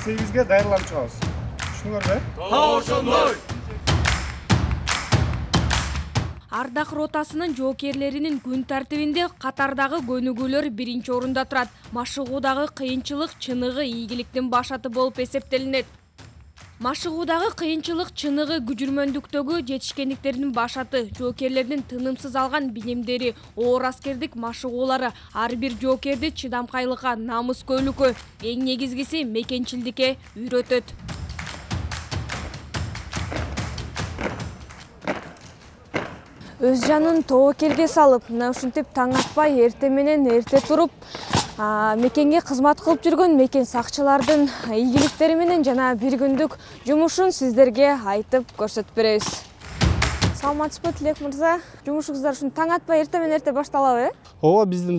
8-ге даярланып чыгабыз. Түшүнүңөрбү? Ошондой. Ардак ротасынын жоокерлеринин күн тартибинде катардагы көнүгүүлөр биринчи орунда турат. Машыгуудагы кыйынчылык чыныгы ийгиликтин башаты болуп эсептелинет. Машыгуудагы кыйынчылык чыныгы күжүрмөндүктөгү жетишкендиктердин башаты. Жоокерлердин тынымсыз алган билимдери, оор аскердик машыгуулары ар бир жоокерди чыдамкайлыкка, намыскөйлүккө, эң негизгиси мекенчилдикке үйрөтөт. Өз жанын тобокелге салып, мына ушинтип таң атпай эрте менен эрте туруп, мекенге кызмат кылып жүргөн мекен сакчылардын ийгиликтери менен жана бир күндүк жумушун сиздерге айтып көрсөтүп беребиз. Саламатсызбы, Тилек мырза? Жумушуңуздар ушун таң атпай эрте менен эрте башталабы? Ооба, биздин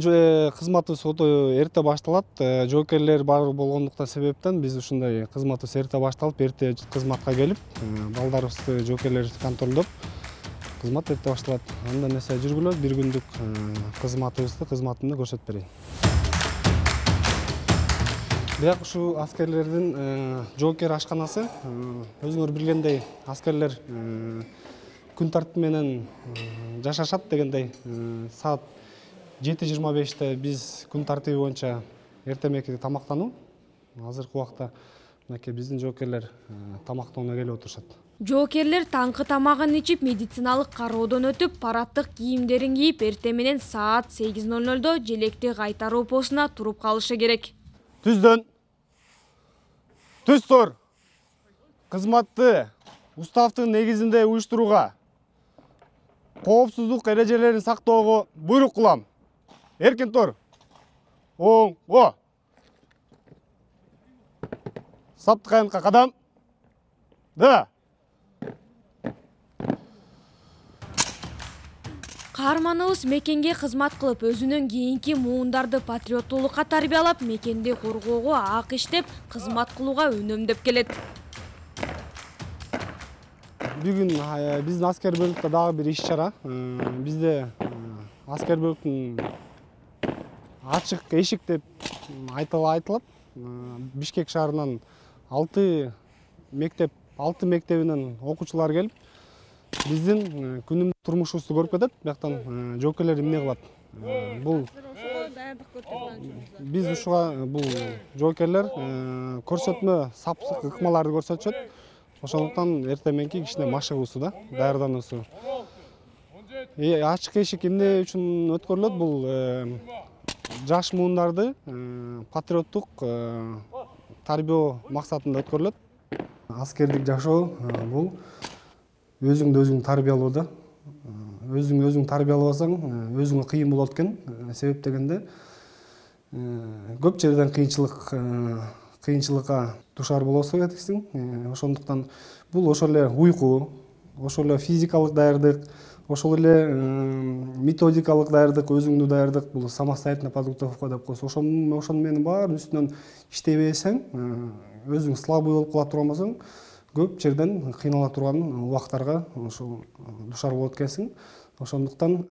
кызматыбыз өтө эрте башталат. Жоокерлер бар болгондуктан себептен биз ушундай кызматыбыз эрте башталып, эрте кызматка келип, балдарыбызды, жоокерлерди контролдоп кызмат эрте башталат. Андан эсе жүргүлөт, бир күндүк кызматымды көрсөтүп берейин. Бияк ушу аскерлердин жоокер ашканасы. Өзүңөр билгендей, аскерлер күн тартиби менен жашашат дегендей. Саат 7:25 биз күн тартиби боюнча эртемеки тамактануу. Азыркы убакта мынакей биздин жоокерлер тамактанууга келип отурушат. Жоокерлер таңкы тамагын ичип, медициналык кароодон өтүп, параттык кийимдерин кийип, эрте менен саат 8:00 желекти кайтаруу постуна туруп калышы керек. Түздөн. Түз тур. Кызматты уставдын негизинде уюштурууга, коопсуздук эрежелерин сактоого буйрук кылам. Эркин тур. Оңго. Саптык аянтка кадам. Да. Каарманыбыз мекенге кызмат кылып, өзүнүн кийинки муундарды патриоттуулукка тарбиялап, мекенди коргоого ак иштеп, кызмат кылууга үнөмдөп келет. Бүгүн биздин аскер бөлүктө дагы бир иш-чара. Бизде аскер бөлүктүн ачык эшик деп айтылат. Бишкек шаарынан 6 мектебинен окуучулар келип, биздин күнүмдүк турмушубузду көрүп кетет. Бияктан жоокерлер эмне кылат? Бул биз ушуга бул жоокерлер көрсөтмө сапсык ыкмаларды көрсөтүшөт. Ошондуктан эрте мененки кичине машыгуусу да, даярдануусу. Ачык эшик эмне үчүн өткөрүлөт? Бул жаш муундарды патриоттук тарбиялоо максатында өткөрүлөт. Аскердик жашоо бул өзүңдү өзүң тарбиялоо да. Өзүң тарбиялабасаң, өзүңө кыйын болот экен. Себеп дегенде көп жерден кыйынчылыкка душар болосуң кетиксиң. Ошондуктан бул ошол эле уйку, ошол эле физикалык даярдык, ошол эле методикалык даярдык, өзүңдү даярдык, бул самостоятельная подготовка деп коесуз. Ошонун менен баарын үстүнөн иштебесең, өзүң слабый болуп кала турган болсоң, көп жерден кыйнала турган убактарга ошол душар болот экенсиң. Ошондуктан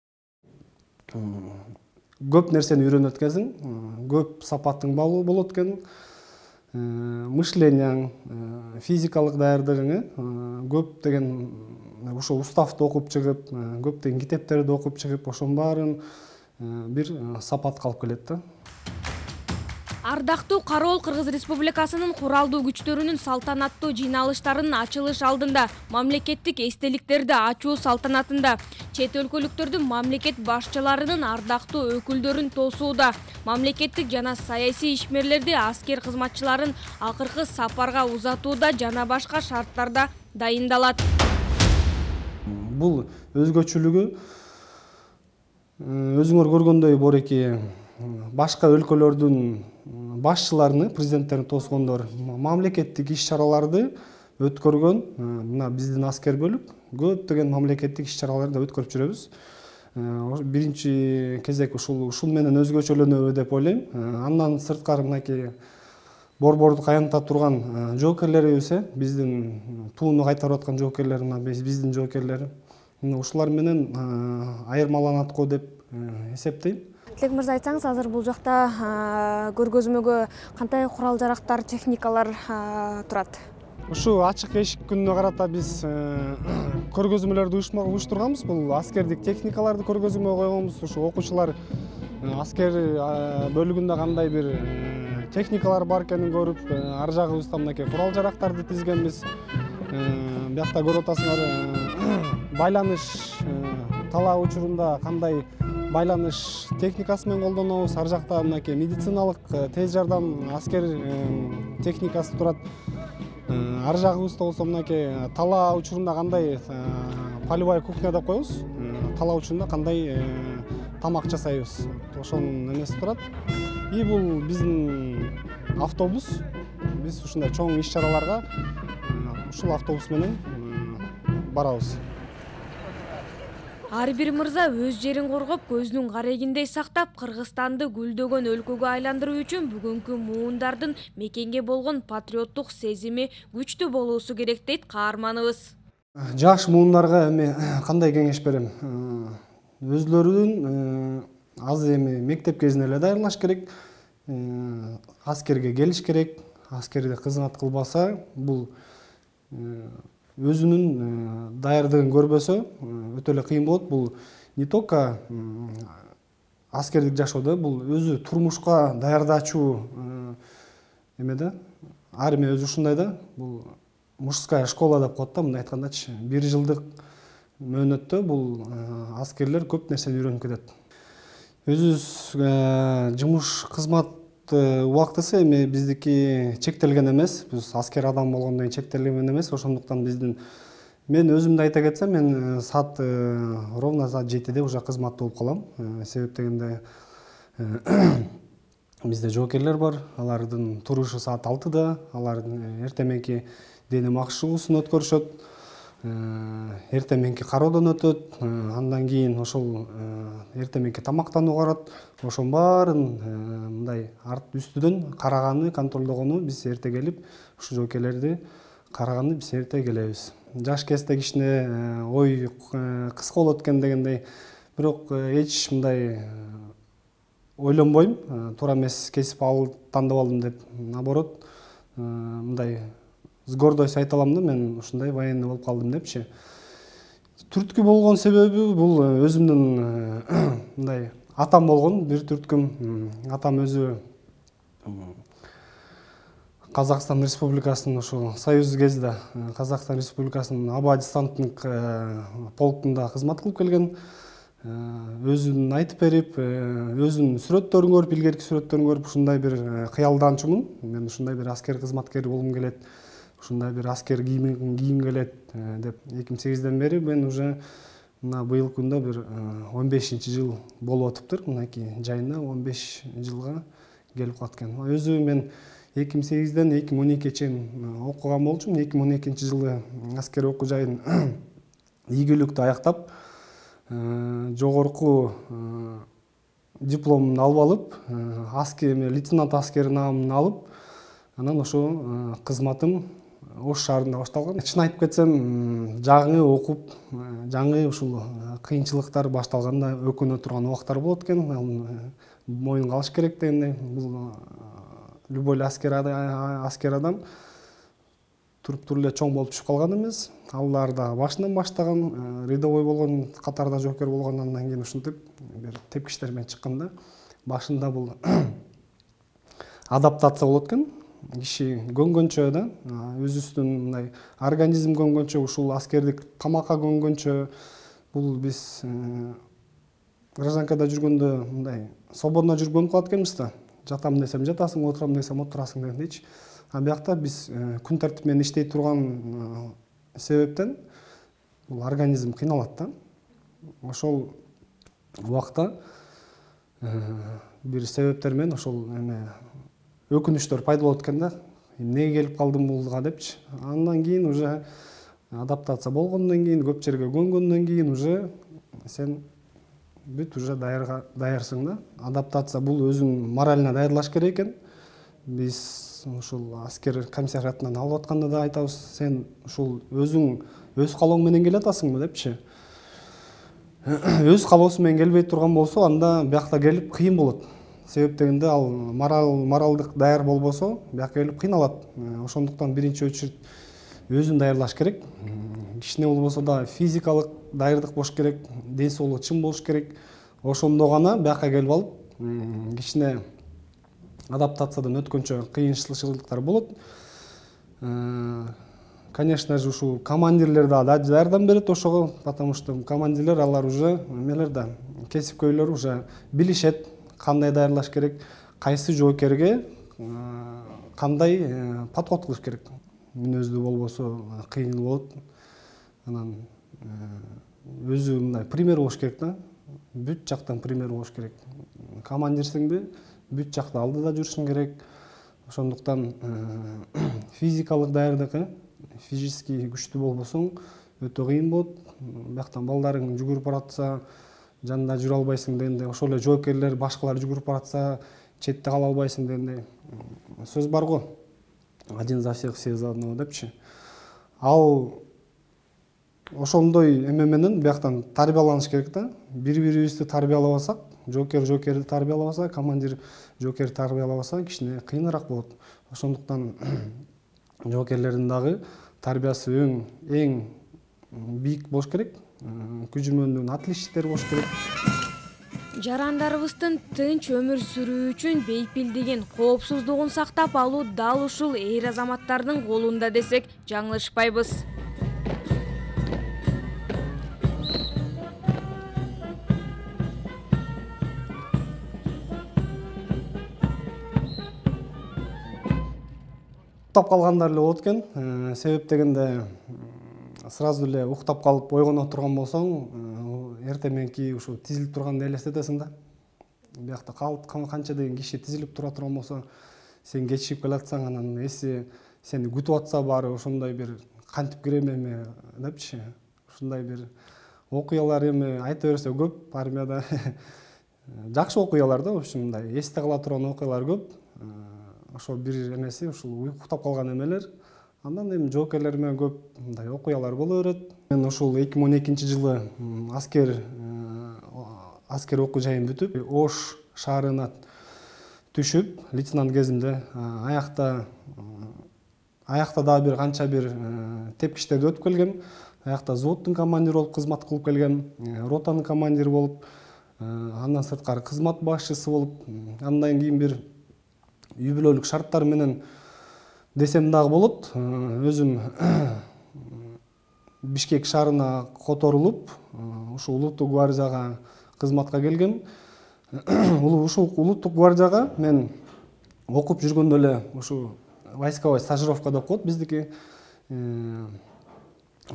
көп нерсени үйрөнөт экенсиң, көп сапаттың балуу болот экен. Мышлениең, физикалык даярдыгың көп деген ошо уставды окуп чыгып, көптөгөн китептерди окуп чыгып, ошонун баарын бир сапатка алып келет да. Ардактуу Кароол Кыргыз Республикасынын куралдуу күчтөрүнүн салтанаттуу жыйналыштарынын ачылыш алдында, мамлекеттик эстеликтерди ачуу салтанатында чет өлкөлүктөрдүн мамлекет башчыларынын ардактуу өкүлдөрүн тосууда, мамлекеттик жана саясий ишмерлерди, аскер кызматчыларын акыркы сапарга узатууда жана башка шарттарда дайындалат. Бул өзгөчөлүгү өзүңөр көргөндөй Бореки башка өлкөлөрдүн башчыларыны, президенттерин тосгондор, мамлекеттик иш-чараларды өткөргөн, мына биздин аскер бөлүк көптөгөн мамлекеттик иш-чараларды өткөрүп жүрөбүз. Биринчи кезек ушул менен өзгөчөлөнөбү деп ойлойм. Андан сырткары мынакей борбордук аянтта турган жоокерлерибиз, биздин тууну кайтарып аткан жоокерлер, биздин жоокерлер, ушулар менен айырмаланат го деп эсептейм. Тилек мырза, айтсаңыз, азыр бул жакта көргөзмөгө кандай курал жарактар, техникалар турат? Ушу ачык эшик күнүнө карата биз көргөзмөлөрдү уюштурганбыз. Бул аскердик техникаларды көргөзмөгө койгонбуз. Ушу окуучулар аскер бөлүгүндө кандай бир техникалар бар экенин көрүп, ар жагыбызда мынакей курал жарактарды тизгенбиз. Биякта көрүп атасыңар, байланыш талаа учурунда кандай байланыш техникасы менен колдонобуз. Ар жакта мынакей медициналык тез жардам аскер техникасы турат. Ар жагыбызда болсо мынакей талаа учурунда кандай полевая кухня деп коебуз. Талаа учурунда кандай тамак жасайбыз. Ошонун эмеси турат. И бул биздин автобус. Биз ушундай чоң иш-чараларга ушул автобус менен барабыз. Ар бир мырза өз жерин коргоп, көздүн карегиндей сактап, Кыргызстанды гүлдөгөн өлкөгө айландыруу үчүн бүгүнкү муундардын мекенге болгон патриоттук сезими күчтүү болуусу керек дейт каарманыбыз. Жаш муундарга эми кандай кеңеш берем? Өзлөрүн азыр эми мектеп кезинде эле даярдаш керек. Аскерге келиш керек. Аскерде кызмат кылбаса, бул өзүнүн даярдыгын көрбөсө өтө эле кыйын болот. Бул не только аскердик жашоодо, бул өзү турмушка даярдачу эмеде. Армия өзү ушундай да, бул мужская школа деп коет да, мындай айткандачы. 1 жылдык мөөнөттө бул аскерлер көп нерсени үйрөнүп кетет. Өзүбүз жумуш кызмат убактысы эми биздики чектелген эмес. Биз аскер адам болгондон кийин чектелген эмес. Ошондуктан мен өзүмдү айта кетсем, мен ровно саат 7-де уже кызматта болуп калам. Себеп дегенде бизде жоокерлер бар. Алардын турушу саат 6-да, алардын эртең дене макшыгуусун өткөрүшөт. Эртең кароодон өтөт, андан кийин ошол эртең тамактануу барат. Ошонун баарын мындай арт үстүдөн караганы, контролдогону биз эрте келип, ушу жоокерлерди караганы биз эрте келебиз. Жаш кезде кичине ой кыска болот экен дегендей, бирок эч мындай ойлонбойм, туура эмес кесип тандап алдым деп. Наоборот, мындай с гордостью айта алам да, мен ушундай военный болуп калдым депчи. Түрткү болгон себеби бул өзүмдүн мындай атам болгон, бир түрткүм. Атам өзү Казакстан Республикасынын ошо союз кезинде Казакстан Республикасынын аба десантник полкунда кызмат кылып келген. Өзүн айтып берип, өзүнүн сүрөттөрүн көрүп, илгерки сүрөттөрүн көрүп ушундай бир кыялданчумун. Мен ушундай бир аскер кызматкери болгум келет. Ушундай бир аскер кийим келет деп 2008-ден бери мен уже мына быйыл күндө бир 15-жыл болуп атыптыр. Мынакей жайына 15 жылга келип калат экен. Өзү мен 2008-ден 2012-ге чейин окуган болчумун. 2012-жылы аскер окуу жайын ийгиликтүү аяктап, жогорку дипломун алып алып, лейтенант аскер наамын алып, анан ошо кызматым Ош шаарында башталган. Чын айтып кетсем, жаңы окуп, жаңы ушул кыйынчылыктар башталганда өкүнө турган убактар болот экен. Моюнга алыш керек дегендей. Бул любой аскер адам туруп эле чоң болуп түшүп калган эмес. Алар да башынан баштаган, рядовой болгон, катарда жоокер болгон, андан кийин ушинтип бир тепкичтер менен чыкканда башында бул адаптация болот экен. Киши көнгөнчө да, өзүбүздүн мындай организм көнгөнчө, ушул аскердик тамакка көнгөнчө, бул биз гражданкада жүргөндө мындай свободно жүрүп көнүп калат экенбиз да. Жатам десем жатасың, отурам десем отурасың дегендейчи. А биякта биз күн тартип менен иштей турган себептен бул организм кыйналат да. Ошол убакта бир себептер менен ошол өкүнүчтөр пайда болот экен да. Эмнеге келип калдым булга депчи. Андан кийин уже адаптация болгондон кийин, көп жерге көнгөндөн кийин уже сен бүт уже даярсың да. Адаптация бул өзүң морально даярдаш керек экен. Биз ушул аскер комиссариатынан алып атканда да айтабыз, сен ушул өзүң өз калооң менен келе атасыңбы депчи. өз каалоосу менен келбей турган болсо, анда биякта келип кыйын болот. Себеп дегенде ал моралдык даяр болбосо, биякка келип кыйналат. Ошондуктан биринчи очередь өзүн даярдаш керек. Кичине болбосо да физикалык даярдык болуш керек, ден соолугу чың болуш керек. Ошондо гана биякка келип алып, кичине адаптациядан өткөнчө кыйынчылыктар болот. Конечно же, ушул командирлер да жардам берет ошого, потому что командирлер алар уже эмелер да, кесипкөйлөр уже билишет кандай даярдаш керек, кайсы жоокерге кандай подход кылыш керек. Мүнөздүү болбосо кыйын болот. Анан өзү мындай пример болуш керек да. Бүт жактан пример болуш керек. Командирсиңби, бүт жакта алдыда жүрүшүң керек. Ошондуктан физикалык даярдык, физически күчтүү болбосоң өтө кыйын болот. Бияктан балдарың жүгүрүп баратса, жанында жүрө албайсың дегенде, ошол эле жоокерлер башкалар жүгүрүп баратса, четте кала албайсың дегенде сөз бар го. Один за всех, все за одного депчи. Ал ошондой эме менен бияктан тарбияланыш керек да. Бири-бирибизди тарбиялабасак, жоокерди тарбиялабаса, командир жоокерди тарбиялабаса, кичине кыйыныраак болот. Ошондуктан жоокерлердин дагы тарбиясы эң бийик болуш керек. Күжүрмөндүн отличниктери болуш керек. Жарандарыбыздын тынч өмүр сүрүү үчүн бейпилдигин, коопсуздугун сактап алуу дал ушул эр азаматтардын колунда десек жаңылышпайбыз. Уктап калгандар эле болот экен. Себеп дегенде сразу эле уктап калып ойгоно турган болсоң, эртең мененки ушу тизилип турганды элестетесиң да. Биякта канча деген киши тизилип тура турган болсо, сен кечигип келатсаң, анан эси сени күтүп атса баары ошондой бир кантип кирем эми депчи. Ушундай бир окуялар эми айта берсе көп армияда. Жакшы окуялар да, в общем, мындай эсте кала турган окуялар көп. Ошо бир эмеси ушул уктап калган эмелер. Андан эми жоокерлер менен көп мындай окуялар боло берет. Мен ушул 2012-жылы аскер окуу жайын бүтүп, Ош шаарына түшүп, лейтенант кезимде аякта дагы бир канча бир тепкичтерди өтүп келгем. Аякта взводдун командири болуп кызмат кылып келгем, ротанын командири болуп, андан сырткары кызмат башчысы болуп, андан кийин бир үй бүлөлүк шарттар менен десем дагы болот. Өзүм Бишкек шаарына которулуп, ушул улуттук гвардияга кызматка келгем. Ушул улуттук гвардияга мен окуп жүргөндө эле ушу войсковой стажировка деп коет биздики.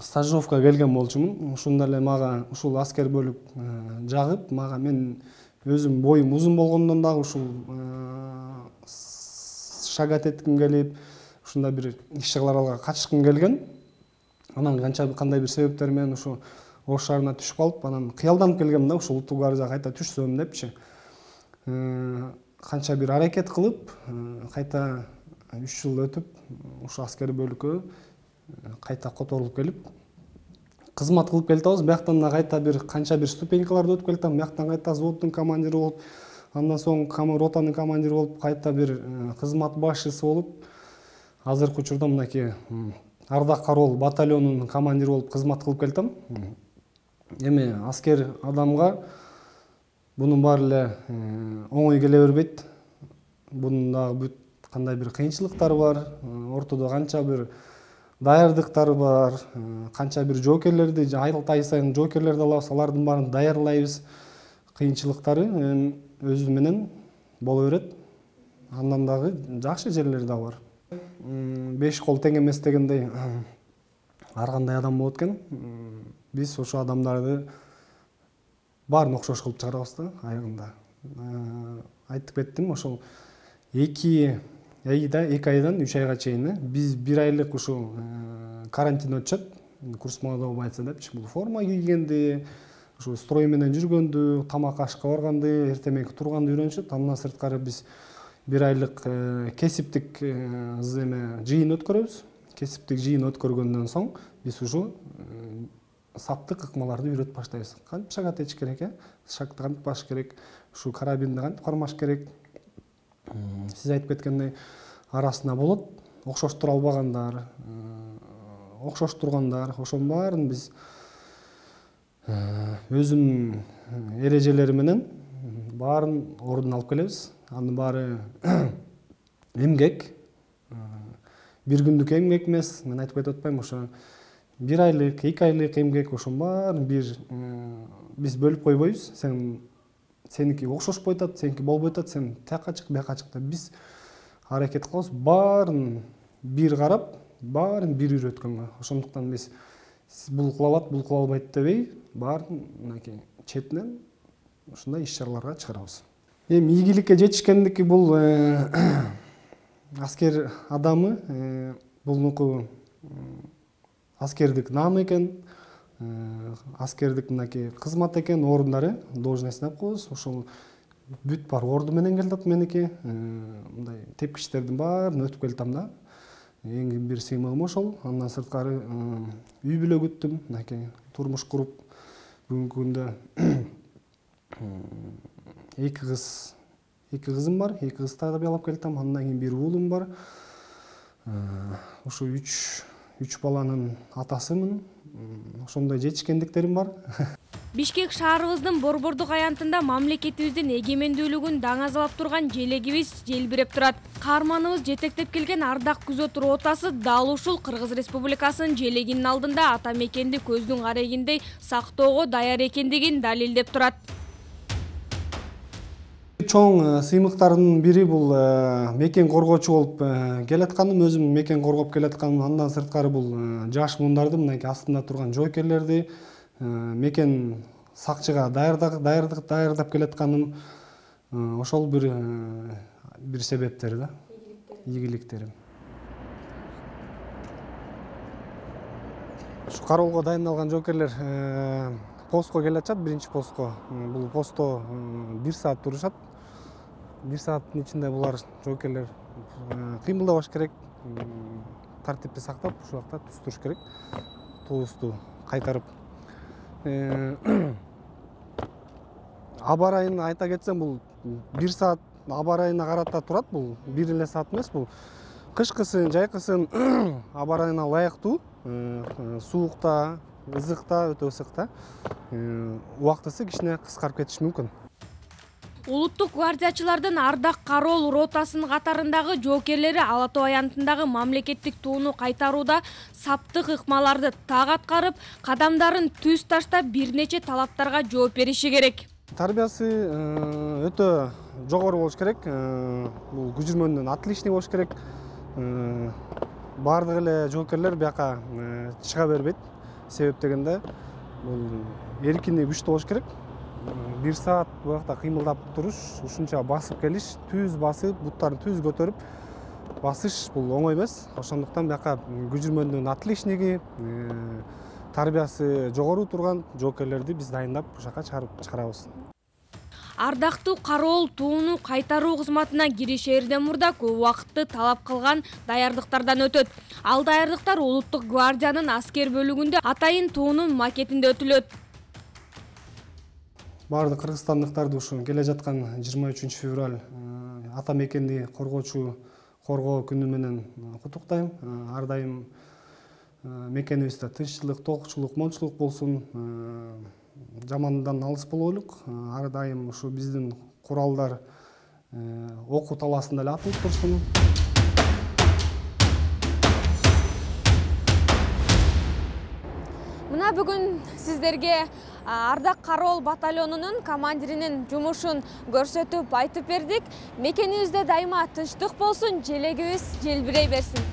Стажировка келген болчумун. Ушунда эле мага ушул аскер бөлүк жагып, мага мен өзүм боюм узун болгондон дагы ушул шагат этким келип, ушундай бир иш-чыгараларга катышкым келген. Анан кандай бир себептер менен ушу Ош шаарына түшүп калып, анан кыялданып келгем да, ушул улуттук гвардияга кайта түшсөм депчи. Канча бир аракет кылып, кайта 3 жыл өтүп, ушу аскер бөлүккө кайта которулуп келип, кызмат кылып келатабыз. Бияктан да кайта бир канча бир ступенькаларды өтүп келатам. Бияктан кайта взводдун командири болуп, андан соң ротанын командири болуп, кайта бир кызмат башчысы болуп, азыркы учурда мынакей Ардак Кароол батальонунун командири болуп кызмат кылып келатам. Эми аскер адамга бунун баары эле оңой келе бербейт. Бунун дагы бүт кандай бир кыйынчылыктары бар, ортодо канча бир даярдыктар бар, канча бир жоокерлерди ай сайын жоокерлерди алабыз, алардын баарын даярлайбыз. Кыйынчылыктары өзү менен боло берет. Андан дагы жакшы жерлери да бар. 5 кол тең эмес дегендей ар кандай адам болот экен. Биз ошо адамдарды баарын окшош кылып чыгарабыз да аягында. Айтып кеттим, ошол 2 айдан 3 айга чейин биз 1 айлык ушул карантин өтүшөт. Курс молодого бойца депчи. Бул форма кийгенди, ушу строй менен жүргөндү, тамак ашка барганды, эртең турганды үйрөнүшөт. Андан сырткары биз 1 айлык кесиптик жыйын өткөрөбүз. Кесиптик жыйын өткөргөндөн соң биз ушу саптык ыкмаларды үйрөтүп баштайбыз. Кантип шаг атыш керек, шагты кантип басыш керек, ушу карабинди кантип кармаш керек. Сиз айтып кеткендей арасында болот окшоштура албагандар, окшош тургандар, ошонун баарын биз өзүнүн эрежелери менен баарын ордуна алып келебиз. Анын баары эмгек, бир күндүк эмгек эмес. Мен айтып кетип атпаймынбы, ошо 1 айлык, 2 айлык эмгек, ошонун баарын биз бөлүп койбойбуз. Сеники окшошпой атат, сеники болбой атат, сен тияка чык, бияка чык деп биз аракет кылабыз. Баарын бир карап, баарын бир үйрөткөнгө. Ошондуктан биз бул кыла алат, бул кыла албайт дебей, баарын мынакей четинен ушундай иш-чараларга чыгарабыз. Эми ийгиликке жетишкендики бул аскер адамы, булнуку аскердик наам экен, аскердик мынакей кызмат экен, ордундары, должностьун деп коебуз. Ошол бүт бар орду менен келатат меники. Мындай тепкичтердин баарын өтүп келатам да. Эң бир сыймыгым ошол. Андан сырткары үй бүлө күттүм, мынакей турмуш куруп, бүгүнкү күндө 2 кызым бар, 2 кыз тарбиялап келатам. Андан кийин бир уулум бар. Ушу 3 баланын атасымын. Ошондой жетишкендиктерим бар. Бишкек шаарыбыздын борбордук аянтында мамлекетибиздин эгемендүүлүгүн даңазалап турган желегибиз желбиреп турат. Каарманыбыз жетектеп келген ардак күзөт ротасы дал ушул Кыргыз Республикасынын желегинин алдында ата мекенди көздүн карегиндей сактоого даяр экендигин далилдеп турат. Чоң сыймыктардын бири бул мекен коргоочу болуп келатканым, өзүм мекен коргоп келатканым. Андан сырткары бул жаш мундарды, мынакей астында турган жоокерлерди мекен сакчыга даярдап келатканым. Ошол бир себептери да, ийгиликтерим. Ушу кароолго дайындалган жоокерлер постко келатышат, биринчи постко. Бул постто 1 саат турушат. 1 сааттын ичинде булар жоокерлер кыймылдабаш керек, тартипти сактап, ушул убакта түз туруш керек. Туусту кайтарып. Аба ырайын айта кетсем, бул 1 саат аба ырайына карата турат. Бул бир эле саат эмес, бул кышкысын, жайкысын аба ырайына ылайыктуу, суукта, ызыкта, өтө ысыкта убактысы кичине кыскарып кетиши мүмкүн. Улуттук гвардиячылардын ардак кароол ротасынын катарындагы жоокерлери Ала Тоо аянтындагы мамлекеттик тууну кайтарууда саптык ыкмаларды так аткарып, кадамдарын түз таштап бир нече талаптарга жооп бериши керек. Тарбиясы өтө жогору болуш керек. Бул күжүрмөндөн отличный болуш керек. Бардык эле жоокерлер бияка чыга бербейт. Себеп дегенде бул эркини күчтүү болуш керек. 1 саат буякта кыймылдап туруш, ушунча басып келиш, түз басып, буттарын түз көтөрүп басыш бул оңой эмес. Ошондуктан бияка күжүрмөндүн отличниги, тарбиясы жогору турган жоокерлерди биз дайындап ушака чыгарабыз. Ардактуу кароол тууну кайтаруу кызматына киришээрден мурда көп убакытты талап кылган даярдыктардан өтөт. Ал даярдыктар улуттук гвардиянын аскер бөлүгүндө атайын туунун макетинде өтүлөт. Бардык кыргызстандыктарды ушу келе жаткан 23 февраль ата мекенди коргоо күнү менен куттуктайм. Ар дайым мекенибизде тынччылык, толукчулук, момчулук болсун, жамандан алыс болойлук. Ар дайым ушу биздин куралдар окуу талаасында эле атылып турсун. Мына бүгүн сиздерге ардак кароол батальонунун командиринин жумушун көрсөтүп айтып бердик. Мекенибизде дайыма тынчтык болсун, желегибиз желбирей берсин.